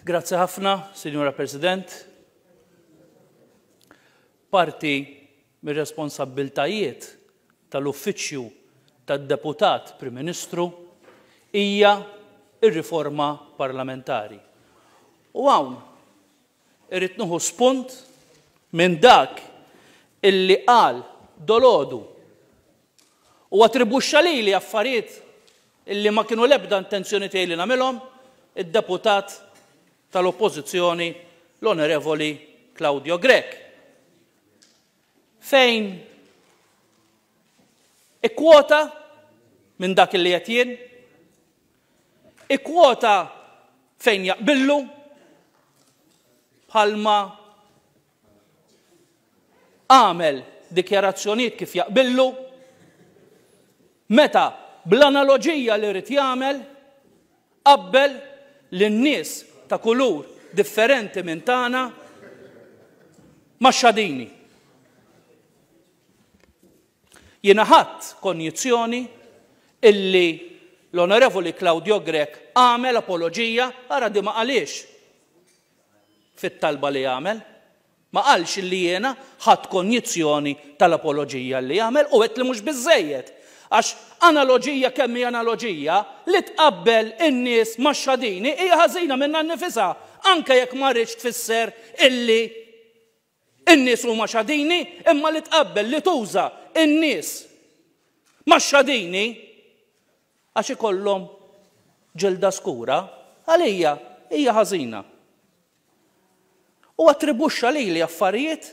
Grazzi ħafna, Sinjura President. Parti mir-responsabbiltajiet tal-Uffiċċju tad-Deputat Prim Ministru hija r-riforma parlamentari. U hawn irrid nieħu spunt minn dak illi qal dolgħodu u attribwixxa lili affarijiet illi ma kienu l-ebda intenzjoni tiegħi li nagħmilhom id-deputat tal-Oppożizzjoni l-Onorevoli Claudio Grech fejn ikkwota minn dak illi qed jien, ikkwota fejn jaqbillu bħalma għamel dikjarazzjonijiet kif jaqbillu, meta bl-analoġija li ried jagħmel qabbel lin-nies ta' kulur differenti minn tagħna max-xadini. Jiena ħadt konjizzjoni illi l-Onorevoli Claudio Grech għamel apoloġija, ara di ma qalhiex fit-talba li għamel. Ma qalx illi jiena ħadt konjizzjoni tal-apoloġija li għamel u għedt li mhux biżżejjed. Għax analoġija kemm hi analoġija, li tqabbel in-nies max-xadini hija ħażina minnha nnifisha, anke jekk ma rridx tfisser illi n-nies huma xadini, imma li tqabbel li tuża n-nies max-xadini għax ikollhom ġilda skura, għalija hija ħażina. U attribwixxa lili affarijiet,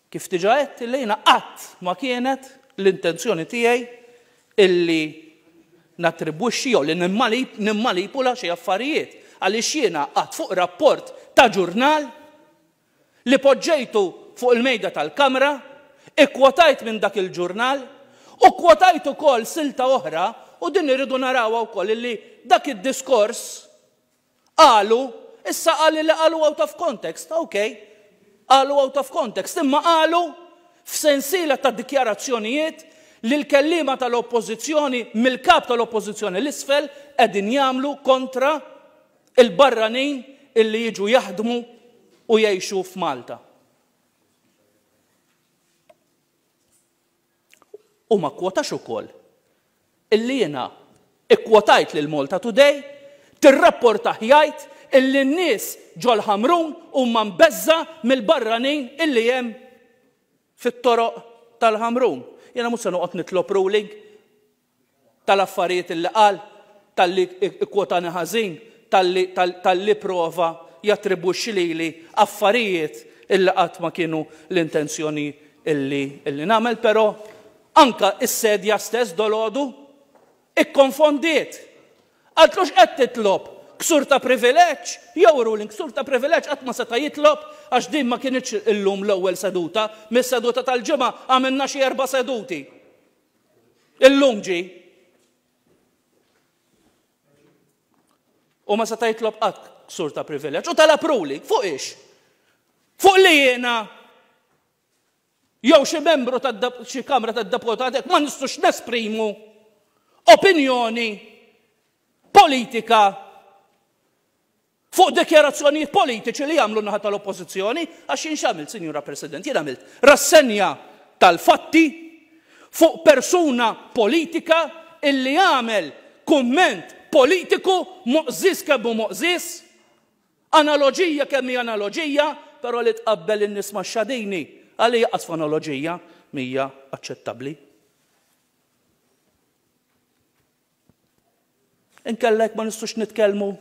kif diġà għedt, illi jiena qatt ma kienet l-intenzjoni tiegħi illi nattribwixxi jew li nimmanipula xi affarijiet, għaliex jiena qgħadt fuq rapport ta' ġurnal li poġġejtu fuq il-mejda tal-Kamra, ikkwotajt minn dak il-ġurnal u kkwotajt ukoll silta oħra u din irridu narawha wkoll illi dak id-diskors Qalu, issa qal li qalu out of context, ok, qalu out of context, imma qalu f'sensiela ta' dikjarazzjonijiet li l-kelliema tal-Oppożizzjoni mill-Kap tal-Oppożizzjoni 'l isfel qegħdin jagħmlu kontra l-barranin illi jiġu jaħdmu u jgħixu f'Malta. U ma kkwotax ukoll illi jiena kkwotajt lil Malta Today tirrapportah jgħid illi n-nies ġol-Ħamrun huma mbeżża' mill-barranin illi hemm fit-toroq tal-Ħamrun. Jiena mhux se noqgħod nitlob ruling tal-affarijiet illi qal, talli kkwotani ħażin, talli talli prova jattribwixxi lili affarijiet illi qatt ma kienu l-intenzjoni illi illi nagħmel, però anke s-sedja stess dolgħodu ikkonfondiet. Qaltlu x'qed titlob? Ksur ta' privileġġ jew ruling? Ksur ta' privileġġ qatt ma seta' jitlob għax din ma kinitx illum l-ewwel seduta, mis-seduta tal-Ġimgħa għamilna xi erba' seduti. Illum ġie. U ma seta' jitlob qatt ksur ta' privileġġ. U talab ruling. Fuq ix? Fuq li jiena jew xi membru ta' xi Kamra tad-Deputati ma nistgħux nesprimu opinjoni politika fuq dikjarazzjonijiet politiċi li jagħmlu n-naħa tal-Oppożizzjoni, għax jien x'għamilt, Sinjura President, jien għamilt rassenja tal-fatti fuq persuna politika illi għamel kumment politiku moqżież kemm hu moqżież, analoġija kemm hi analoġija, però li tqabbel in-nies max-xadini, għalija qas f'analoġija m'hija aċċettabbli. Inkella jekk ma nistgħux nitkellmu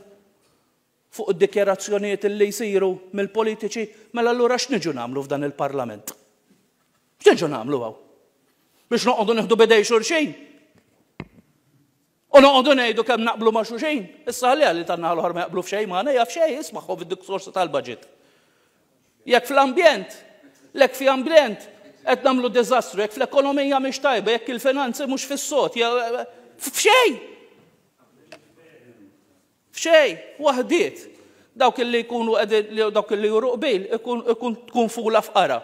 fuq id-dikjarazzjonijiet li jsiru mill-politiċi, mela allura x'niġu nagħmlu f'dan il-Parlament? X'niġu nagħmlu hawn? Biex noqogħdu nieħdu bidej xulxin? U noqogħdu ngħidu kemm naqblu ma' xulxin? Issa ħalliha li tan-naħa l-oħra ma jaqblu f'xejn magħna, jaf xejn, ismagħhom fid-diskorsi tal-budget. Jekk fl-ambjent, lek fi ambjent qed nagħmlu diżastru, jekk fl-ekonomija mhix tajba, jekk il-finanzi mhux fis-sod, f'xejn. F'xejn, waħdiet. Dawk li jkunu qegħdin dawk li juru qbil ikun tkun fula f'qara.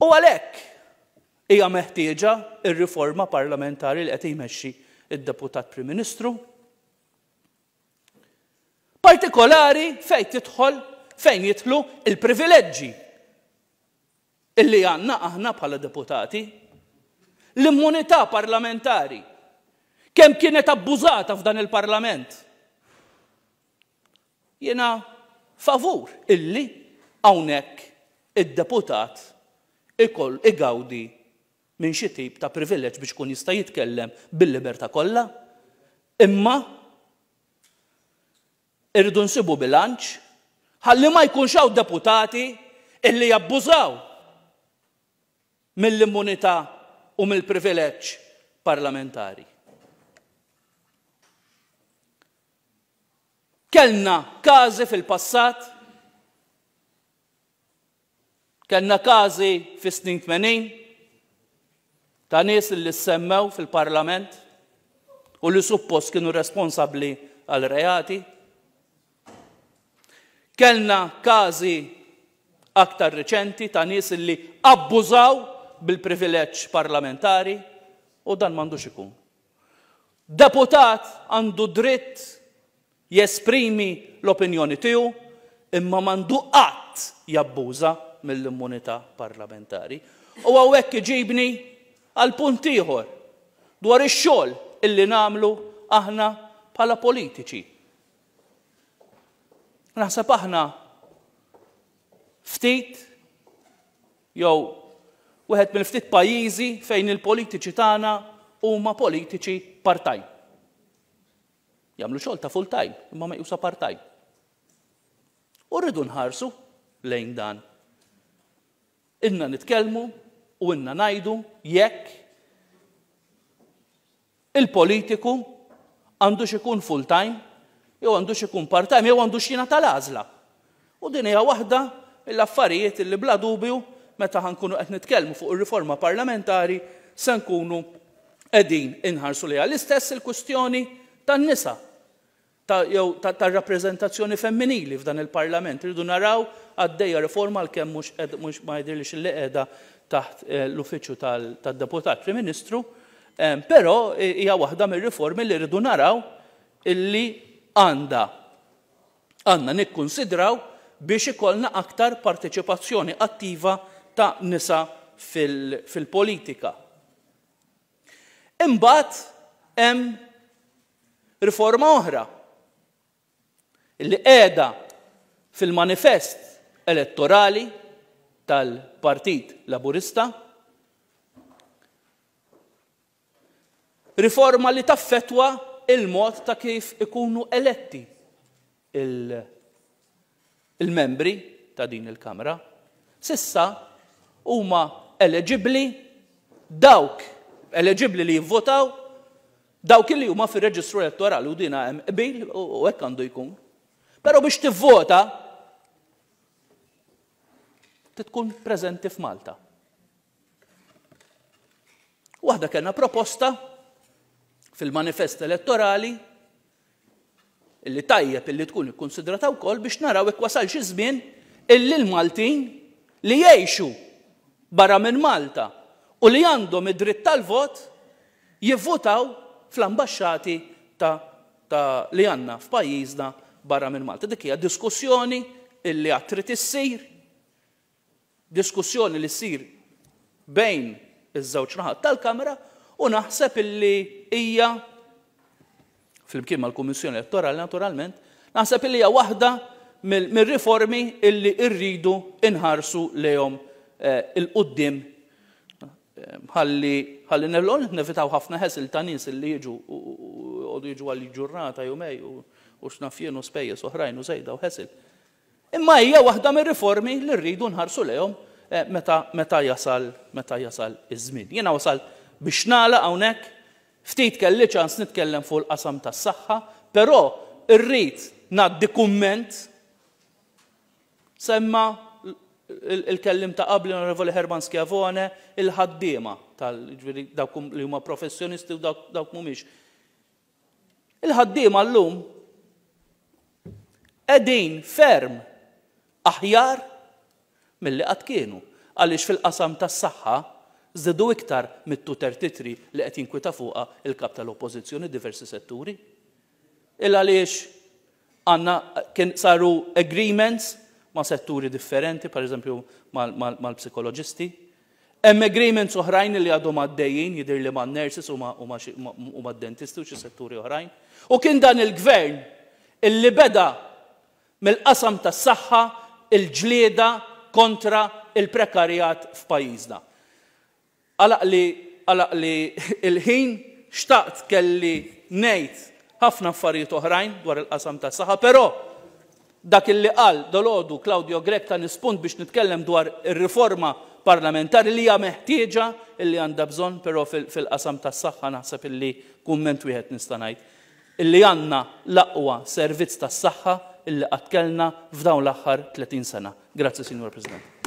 U għalhekk hija meħtieġa r-riforma parlamentari li qed jmexxi d-Deputat Prim Ministru. Partikolari fejn tidħol fejn jidħlu il-privileġġi illi għandna aħna bħala deputati. L-immunità parlamentari kemm kienet abbużata f'dan il-Parlament. Jiena favur illi hawnhekk id-deputat ikoll igawdi minn xi tip ta' privileġġ biex ikun jista' jitkellem bil-libertà kollha, imma irridu nsibu bilanċ ħalli ma jkunx hawn deputati illi jabbużaw mill-immunità u mill-privileġġ parlamentari. Kellna każi fil-passat, kellna każi fis-snin 80 ta' nies li ssemmew fil-Parlament u li suppost kienu responsabbli għal reati. Kellna każi aktar riċenti ta' nies li abbużaw bil-privileġġ parlamentari u dan m'għandux ikun. Deputat għandu dritt jesprimi l-opinjoni tiegħu imma m'għandu qatt jabbuża mill-immunità parlamentari. U hawnhekk iġibni għal punt ieħor dwar ix-xogħol illi nagħmlu aħna bħala politiċi. Naħseb aħna ftit jew wieħed mill-ftit pajjiżi fejn il-politiċi tagħna huma politiċi part-time. Jagħmlu xogħol ta' full-time, imma meqjusa part-time. U rridu nħarsu lejn dan. Ilna nitkellmu u ilna ngħidu jekk Il-politiku għandux ikun full time jew għandux ikun part time jew għandux jingħata l-għażla. U din hija waħda mill-affarijiet li bla dubju meta ħa nkunu qed nitkellmu fuq ir-riforma parlamentari se nkunu qegħdin inħarsu lejha. L-istess il-kwistjoni tan-nisa. ta' jew tar-rappreżentazzjoni femminili f'dan il-Parlament. Irridu naraw għaddejja riforma għalkemm mhux qed mhux ma jidhirlix li qiegħda taħt l-uffiċċju tad-Deputat Prim Ministru, però hija waħda mir-riformi li rridu naraw illi għandha għandna nikkunsidraw biex ikollna aktar parteċipazzjoni attiva ta' nisa fil-politika. Imbagħad hemm Riforma oħra li qiegħda fil-manifest elettorali tal-Partit Laburista, riforma li taffettwa il-mod ta' kif ikunu eletti il-membri ta' din il-Kamra. S'issa huma eleġibbli dawk eleġibbli li jivvotaw dawk li huma fir-reġistru elettorali u dina hemm qbil u hekk għandu jkun. Però biex tivvota tkun preżenti f'Malta. Waħda kellna proposta fil-manifest elettorali illi tajjeb illi tkun ikkunsidrata wkoll biex naraw jekk wasalx iż-żmien illi l-Maltin li jgħixu barra minn Malta u li għandhom id-dritt tal-vot jivvutaw fl-ambaxxati ta' ta' li għandna f'pajjiżna barra minn Malta. Dik hija diskussjoni illi għad trid issir. Diskussjoni li ssir bejn iż-żewġ naħat tal-Kamra u naħseb illi hija flimkien mal-Kummissjoni Elettorali naturalment, naħseb illi hija waħda mir-riformi illi rridu inħarsu lejhom eh, il-qudiem eh, ħalli ħalli nevitaw ħafna ħesil ta' nies illi jiġu u jiġu għal ġurnata jumej u x'naf jien u spejjeż oħrajn u żejda u ħesil. Imma hija waħda mir-riformi li rridu nħarsu lejhom meta meta jasal meta jasal iż-żmien. Jiena wasalt biex nagħlaq hawnhekk, ftit kelli ċans nitkellem fuq il-qasam tas-saħħa, però rrid ngħaddi kumment semma il-kellim ta' qabli l-Onorevoli Herman Schiavone il-ħaddiema tal ġifieri dawk li huma professjonisti u dawk dawk mhumiex. Il-ħaddiema llum qegħdin ferm aħjar milli qatt kienu għaliex fil-qasam tas-saħħa żdiedu iktar mit-233 li qed jinkwieta fuqha l-Kap tal-Oppożizzjoni diversi setturi. Il għaliex? Għandna kien saru agreements ma' setturi differenti, per eżempju mal-psikoloġisti. Hemm agreements oħrajn li għadhom għaddejjin, jidhir li man-nurses u mad-dentisti u xi setturi oħrajn. U kien dan il-gvern illi beda mill-qasam tas-saħħa il-ġlieda kontra il-prekarjat f'pajjiżna. Għalaqli għalaqli l-ħin, xtaqt kelli ngħid ħafna affarijiet oħrajn dwar il-qasam tas-saħħa, però dak illi qal dalgħodu Claudio Grech tani spunt biex nitkellem dwar ir-riforma parlamentari li hija meħtieġa illi għandha bżonn, però fil-qasam tas-saħħa naħseb illi kumment wieħed nista' ngħid, illi għandna l-aqwa servizz tas-saħħa illi qatt kellna f'dawn l-aħħar 30 sena. Grazzi, Sinjura President.